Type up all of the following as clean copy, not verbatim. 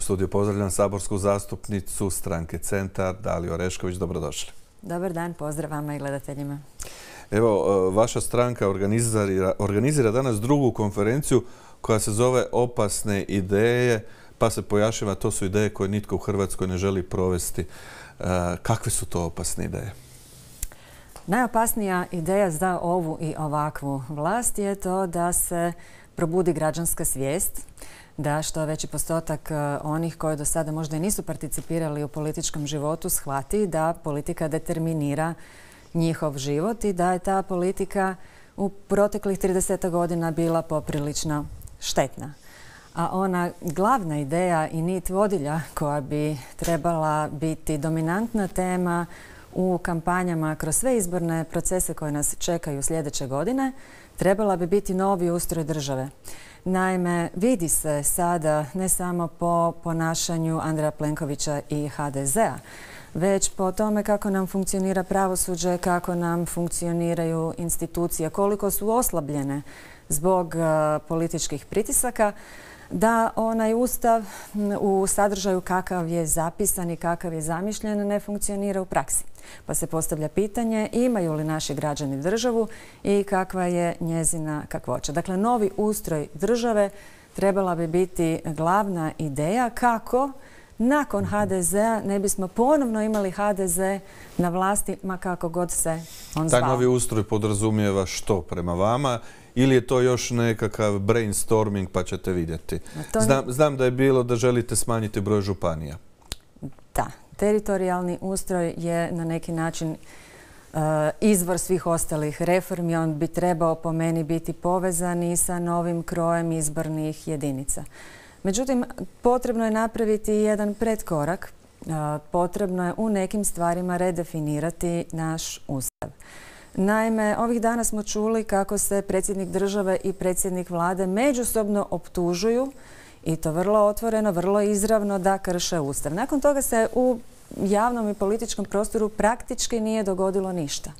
U studiju pozdravljam saborsku zastupnicu stranke Centar, Daliju Orešković. Dobrodošli. Dobar dan, pozdrav vama i gledateljima. Evo, vaša stranka organizira danas drugu konferenciju koja se zove Opasne ideje, pa se pojašnjava to su ideje koje nitko u Hrvatskoj ne želi provesti. Kakve su to opasne ideje? Najopasnija ideja za ovu i ovakvu vlast je to da se probudi građanska svijest, da što veći postotak onih koji do sada možda i nisu participirali u političkom životu shvati da politika determinira njihov život i da je ta politika u proteklih 30 godina bila poprilično štetna. A ona glavna ideja i nit vodilja koja bi trebala biti dominantna tema u kampanjama kroz sve izborne procese koje nas čekaju sljedeće godine, trebala bi biti novi ustroj države. Naime, vidi se sada ne samo po ponašanju Andreja Plenkovića i HDZ-a, već po tome kako nam funkcionira pravosuđe, kako nam funkcioniraju institucije, koliko su oslabljene zbog političkih pritisaka, da onaj Ustav u sadržaju kakav je zapisan i kakav je zamišljen ne funkcionira u praksi. Pa se postavlja pitanje imaju li naši građani državu i kakva je njezina kakvoća. Dakle, novi ustroj države trebala bi biti glavna ideja kako nakon HDZ-a ne bismo ponovno imali HDZ na vlasti, ma kako god se on zvao. Taj novi ustroj podrazumijeva što prema vama? Ili je to još nekakav brainstorming pa ćete vidjeti? Znam da je bilo da želite smanjiti broj županija. Da, teritorijalni ustroj je na neki način izvor svih ostalih reformi. On bi trebao po meni biti povezan i sa novim krojem izbornih jedinica. Međutim, potrebno je napraviti jedan pretkorak. Potrebno je u nekim stvarima redefinirati naš Ustav. Naime, ovih dana smo čuli kako se predsjednik države i predsjednik vlade međusobno optužuju i to vrlo otvoreno, vrlo izravno da krše Ustav. Nakon toga se u javnom i političkom prostoru praktički nije dogodilo ništa.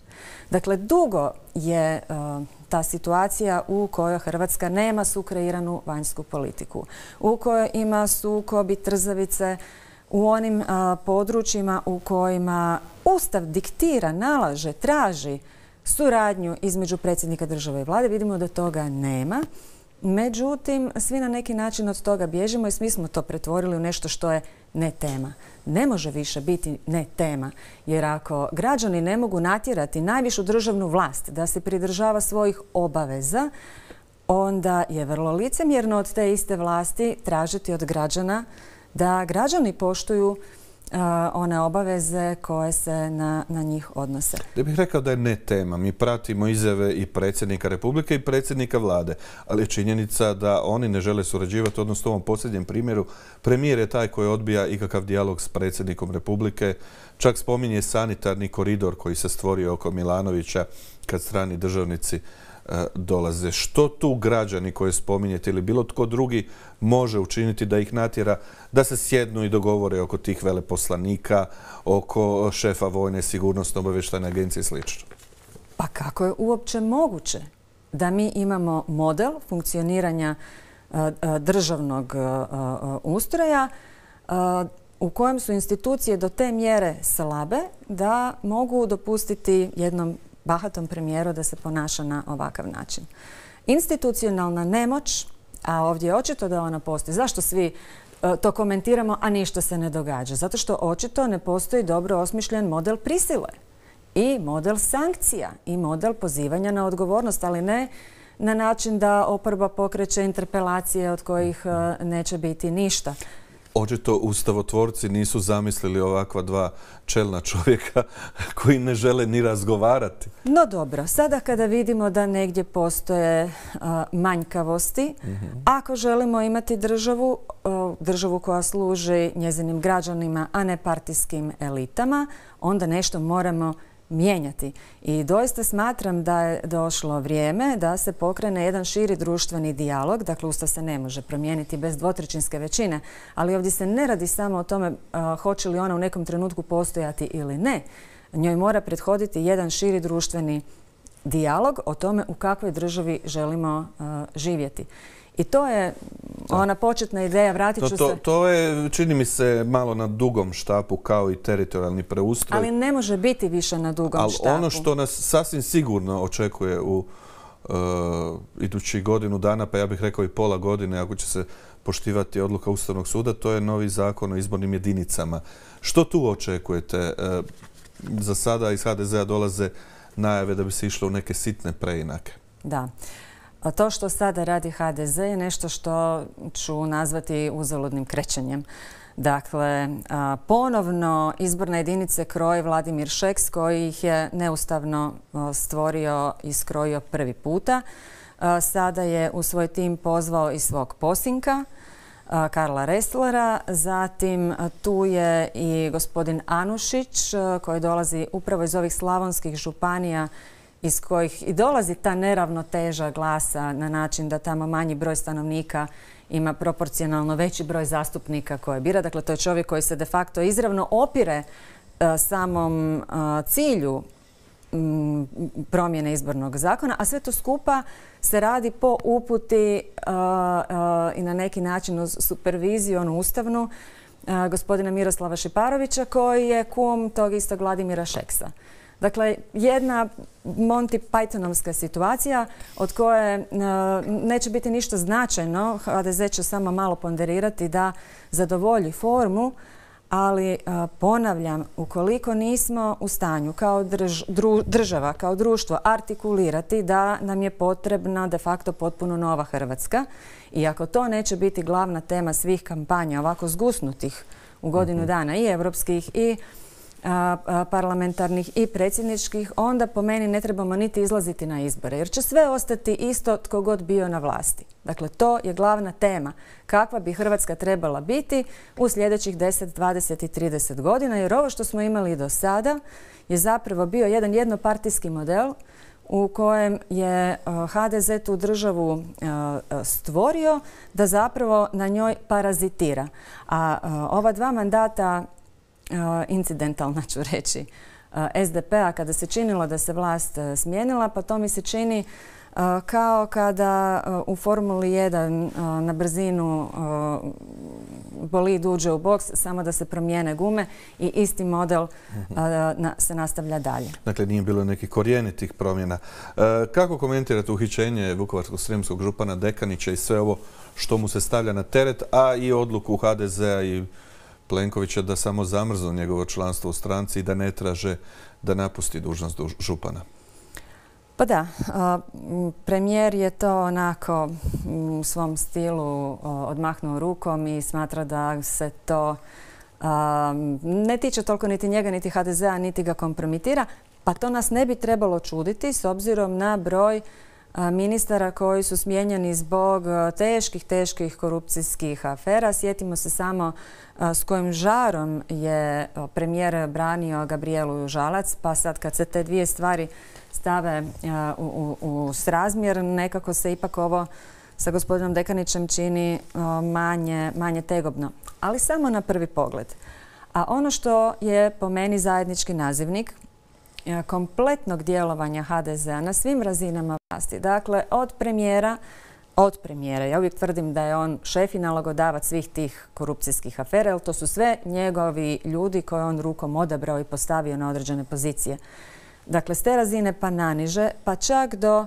Dakle, dugo je ta situacija u kojoj Hrvatska nema sukreiranu vanjsku politiku, u kojoj ima sukob i trzavice u onim područjima u kojima Ustav diktira, nalaže, traži suradnju između predsjednika države i vlade. Vidimo da toga nema. Međutim, svi na neki način od toga bježimo i svi smo to pretvorili u nešto što je ne tema. Ne može više biti ne tema, jer ako građani ne mogu natjerati najvišu državnu vlast da se pridržava svojih obaveza, onda je vrlo licemjerno od te iste vlasti tražiti od građana da građani poštuju one obaveze koje se na njih odnose. Ja bih rekao da je ne tema. Mi pratimo izjave i predsjednika Republike i predsjednika vlade, ali je činjenica da oni ne žele surađivati, odnosno u ovom posljednjem primjeru premijer je taj koji odbija ikakav dijalog s predsjednikom Republike. Čak spominje sanitarni koridor koji se stvorio oko Milanovića kad strani državnici dolaze. Što tu građani koje spominjete ili bilo tko drugi može učiniti da ih natjera da se sjednu i dogovore oko tih veleposlanika, oko šefa vojne sigurnosno obavještajne agencije i sl.? Pa kako je uopće moguće da mi imamo model funkcioniranja državnog ustroja u kojem su institucije do te mjere slabe da mogu dopustiti jednom bahatom premijeru da se ponaša na ovakav način. Institucionalna nemoć, a ovdje je očito da ona postoji. Zašto svi to komentiramo, a ništa se ne događa? Zato što očito ne postoji dobro osmišljen model prisile i model sankcija i model pozivanja na odgovornost, ali ne na način da oporba pokreće interpelacije od kojih neće biti ništa. Očito ustavotvorci nisu zamislili ovakva dva čelna čovjeka koji ne žele ni razgovarati. No dobro, sada kada vidimo da negdje postoje manjkavosti, ako želimo imati državu koja služi njezinim građanima, a ne partijskim elitama, onda nešto moramo mijenjati. I doista smatram da je došlo vrijeme da se pokrene jedan širi društveni dijalog. Dakle, Ustav se ne može promijeniti bez dvotrećinske većine, ali ovdje se ne radi samo o tome hoće li ona u nekom trenutku postojati ili ne. Njoj mora prethoditi jedan širi društveni dijalog o tome u kakvoj državi želimo živjeti. I to je ona početna ideja, vratit ću se... To je, čini mi se, malo na dugom štapu kao i teritorijalni preustroj. Ali ne može biti više na dugom štapu. Ali ono što nas sasvim sigurno očekuje u idućih godinu dana, pa ja bih rekao i pola godine, ako će se poštivati odluka Ustavnog suda, to je novi zakon o izbornim jedinicama. Što tu očekujete? Za sada iz HDZ-a dolaze najave da bi se išlo u neke sitne preinake. Da. To što sada radi HDZ je nešto što ću nazvati uzaludnim krećenjem. Dakle, ponovno izborne jedinice kroji Vladimir Šeks koji ih je neustavno stvorio i skrojio prvi puta. Sada je u svoj tim pozvao i svog posinka, Karla Resslera. Zatim tu je i gospodin Anušić koji dolazi upravo iz ovih slavonskih županija iz kojih i dolazi ta neravnoteža glasa na način da tamo manji broj stanovnika ima proporcionalno veći broj zastupnika koje bira. Dakle, to je čovjek koji se de facto izravno opire samom cilju promjene izbornog zakona, a sve to skupa se radi po uputi i na neki način uz superviziju, onu ustavnu, gospodina Miroslava Šeparovića koji je kum tog istog Vladimira Šeksa. Dakle, jedna Monty Pythonovska situacija od koje neće biti ništa značajno. HDZ će samo malo ponderirati da zadovolji formu, ali ponavljam, ukoliko nismo u stanju kao država, kao društvo artikulirati da nam je potrebna de facto potpuno nova Hrvatska i ako to neće biti glavna tema svih kampanja ovako zgusnutih u godinu dana i europskih i parlamentarnih i predsjedničkih, onda po meni ne trebamo niti izlaziti na izbore, jer će sve ostati isto tko god bio na vlasti. Dakle, to je glavna tema. Kakva bi Hrvatska trebala biti u sljedećih 10, 20 i 30 godina, jer ovo što smo imali do sada je zapravo bio jedan jednopartijski model u kojem je HDZ tu državu stvorio da zapravo na njoj parazitira. A ova dva mandata incidentalna ću reći SDP-a kada se činilo da se vlast smijenila, pa to mi se čini kao kada u Formuli 1 na brzinu bolid uđe u boks, samo da se promijene gume i isti model se nastavlja dalje. Dakle, nije bilo nekih korijenitih promjena. Kako komentirate uhićenje vukovarsko-srijemskog župana Dekanića i sve ovo što mu se stavlja na teret, a i odluku HDZ-a i Plenkovića da samo zamrznu njegovo članstvo u stranci i da ne traže da napusti dužnost župana? Pa da, premijer je to onako u svom stilu odmahnuo rukom i smatra da se to ne tiče toliko niti njega, niti HDZ-a, niti ga kompromitira. Pa to nas ne bi trebalo čuditi s obzirom na broj ministara koji su smijenjeni zbog teških korupcijskih afera. Sjetimo se samo s kojim žarom je premijer branio Gabrijelu Žalac, pa sad kad se te dvije stvari stave u srazmjer, nekako se ipak ovo sa gospodinom Dekanićem čini manje tegobno. Ali samo na prvi pogled. A ono što je po meni zajednički nazivnik kompletnog djelovanja HDZ-a na svim razinama vlasti. Dakle, od premijera, ja uvijek tvrdim da je on šef i nalogodavac svih tih korupcijskih afera, jer to su sve njegovi ljudi koje on rukom odabrao i postavio na određene pozicije. Dakle, s te razine pa naniže, pa čak do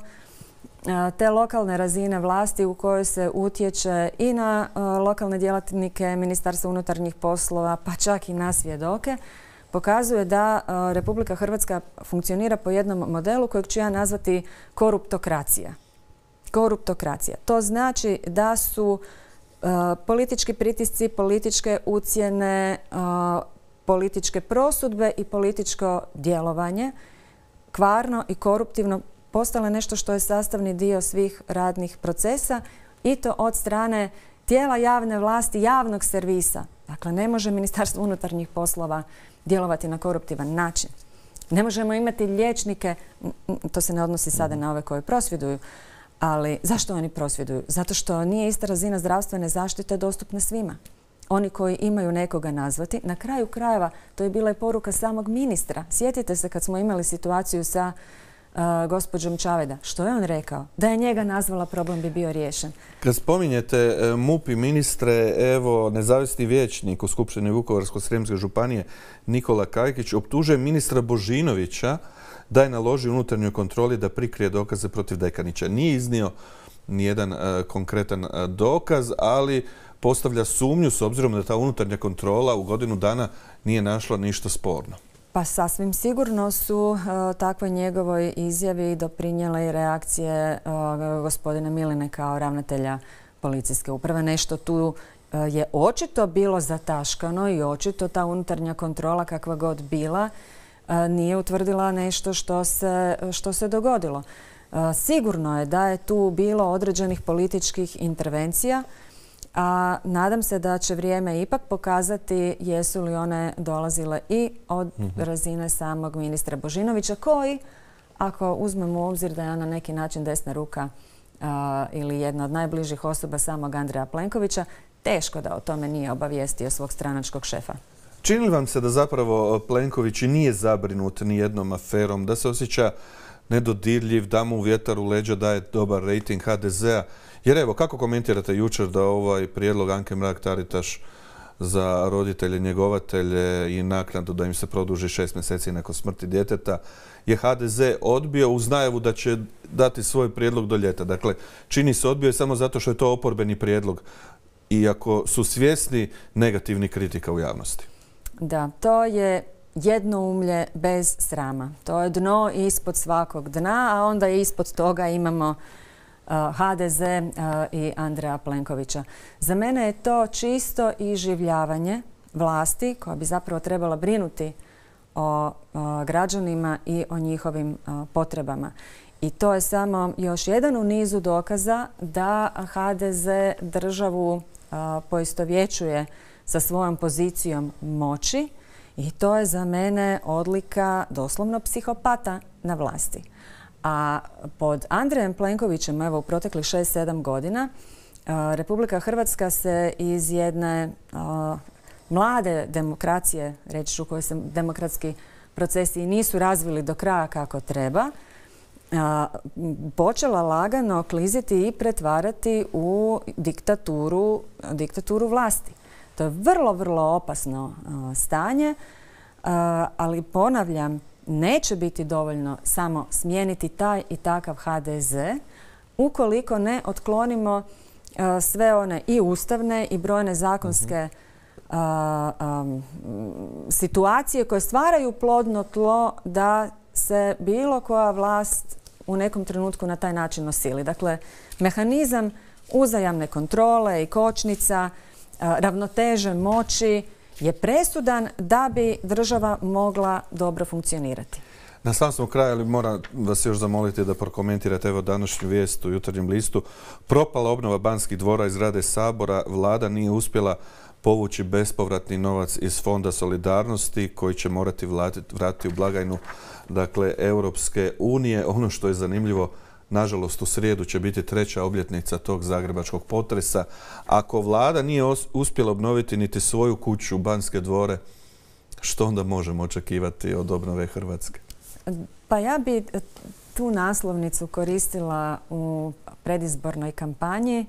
te lokalne razine vlasti u kojoj se utječe i na lokalne djelatnike Ministarstva unutarnjih poslova, pa čak i na svjedoke, pokazuje da Republika Hrvatska funkcionira po jednom modelu kojeg ću ja nazvati koruptokracija. Koruptokracija. To znači da su politički pritisci, političke ucjene, političke prosudbe i političko djelovanje kvarno i koruptivno postale nešto što je sastavni dio svih radnih procesa i to od strane tijela javne vlasti, javnog servisa. Dakle, ne može Ministarstvo unutarnjih poslova djelovati na koruptivan način. Ne možemo imati liječnike, to se ne odnosi sada na ove koji prosvjeduju, ali zašto oni prosvjeduju? Zato što nije ista razina zdravstvene zaštite dostupna svima. Oni koji imaju nekoga nazvati, na kraju krajeva, to je bila i poruka samog ministra. Sjetite se kad smo imali situaciju sa gospođom Čavajda. Što je on rekao? Da je njega nazvala, problem bi bio riješen. Kad spominjete MUP i ministre, evo, nezavisni vijećnik u Skupštini Vukovarsko-srijemske županije Nikola Kajkić optužuje ministra Božinovića da je naložio unutarnjoj kontroli da prikrije dokaze protiv Dekanića. Nije iznio nijedan konkretan dokaz, ali postavlja sumnju s obzirom da ta unutarnja kontrola u godinu dana nije našla ništa sporno. Pa sasvim sigurno su takvoj njegovoj izjavi doprinijele i reakcije gospodina Miline kao ravnatelja policijske uprave. Nešto tu je očito bilo zataškano i očito ta unutarnja kontrola, kakva god bila, nije utvrdila nešto što se dogodilo. Sigurno je da je tu bilo određenih političkih intervencija, a nadam se da će vrijeme ipak pokazati jesu li one dolazile i od razine samog ministra Božinovića, koji, ako uzmemo u obzir da je on na neki način desna ruka ili jedna od najbližih osoba samog Andreja Plenkovića, teško da o tome nije obavijestio svog stranačkog šefa. Čini li vam se da zapravo Plenković i nije zabrinut ni jednom aferom, da se osjeća nedodirljiv, da mu vjetar u leđa daje dobar rejting HDZ-a? Jer evo, kako komentirate jučer da ovaj prijedlog Anke Mrak-Taritaš za roditelje, njegovatelje i naknadu da im se produži 6 mjeseci nakon smrti djeteta je HDZ odbio uz najavu da će dati svoj prijedlog do ljeta. Dakle, čini se odbio je samo zato što je to oporbeni prijedlog, iako su svjesni negativnih kritika u javnosti. Da, to je jednoumlje bez srama. To je dno ispod svakog dna, a onda ispod toga imamo HDZ i Andreja Plenkovića. Za mene je to čisto iživljavanje vlasti koja bi zapravo trebala brinuti o građanima i o njihovim potrebama. I to je samo još jedan u nizu dokaza da HDZ državu poistovjećuje sa svojom pozicijom moći i to je za mene odlika doslovno psihopata na vlasti. A pod Andrejem Plenkovićem, evo u proteklih 6-7 godina, Republika Hrvatska se iz jedne mlade demokracije, reći ću, u kojoj se demokratski procesi nisu razvili do kraja kako treba, počela lagano kliziti i pretvarati u diktaturu vlasti. To je vrlo, vrlo opasno stanje, ali ponavljam, neće biti dovoljno samo smijeniti taj i takav HDZ ukoliko ne otklonimo sve one i ustavne i brojne zakonske situacije koje stvaraju plodno tlo da se bilo koja vlast u nekom trenutku na taj način osili. Dakle, mehanizam uzajamne kontrole i kočnica, ravnoteže moći je presudan da bi država mogla dobro funkcionirati. Na samom smo kraju, ali moram vas još zamoliti da prokomentirate evo današnju vijest u Jutarnjem listu. Propala obnova Banskih dvora i zgrade Sabora. Vlada nije uspjela povući bespovratni novac iz Fonda solidarnosti koji će morati vratiti u blagajnu Europske unije. Ono što je zanimljivo, nažalost u srijedu će biti 3. obljetnica tog zagrebačkog potresa. Ako vlada nije uspjela obnoviti niti svoju kuću, Banske dvore, što onda možemo očekivati od obnove Hrvatske? Pa ja bi tu naslovnicu koristila u predizbornoj kampanji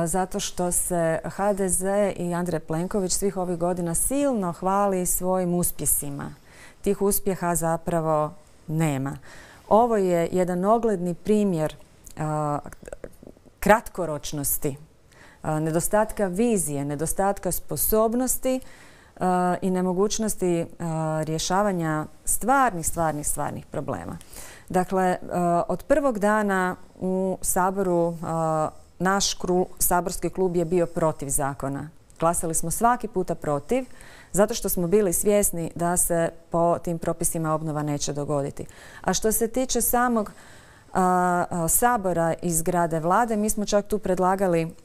zato što se HDZ i Andrej Plenković svih ovih godina silno hvali svojim uspjesima. Tih uspjeha zapravo nema. Ovo je jedan ogledni primjer kratkoročnosti, nedostatka vizije, nedostatka sposobnosti i nemogućnosti rješavanja stvarnih problema. Dakle, od prvog dana u Saboru naš saborski klub je bio protiv zakona. Glasali smo svaki puta protiv, zato što smo bili svjesni da se po tim propisima obnova neće dogoditi. A što se tiče samog Sabora i zgrade Vlade, mi smo čak tu predlagali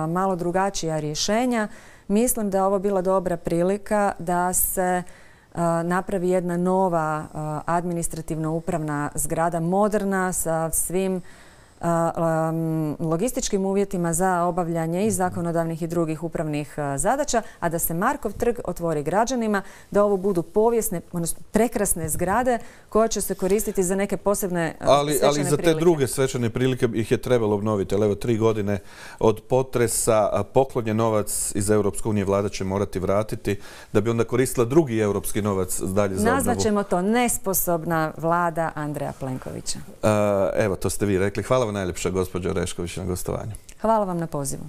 malo drugačija rješenja. Mislim da je ovo bila dobra prilika da se napravi jedna nova administrativno-upravna zgrada, moderna, sa svim logističkim uvjetima za obavljanje i zakonodavnih i drugih upravnih zadaća, a da se Markov trg otvori građanima, da ovo budu povijesne, odnosno prekrasne zgrade koje će se koristiti za neke posebne svečane prilike. Ali za te druge svečane prilike ih je trebalo obnoviti. Ali evo 3 godine od potresa poklonjen novac iz Europske unije vlada će morati vratiti da bi onda koristila drugi europski novac dalje za obnovu. Nazvaćemo to nesposobna vlada Andreja Plenkovića. Evo, to ste vi rekli. Hvala vam najljepša, gospođo Orešković, na gostovanju. Hvala vam na pozivu.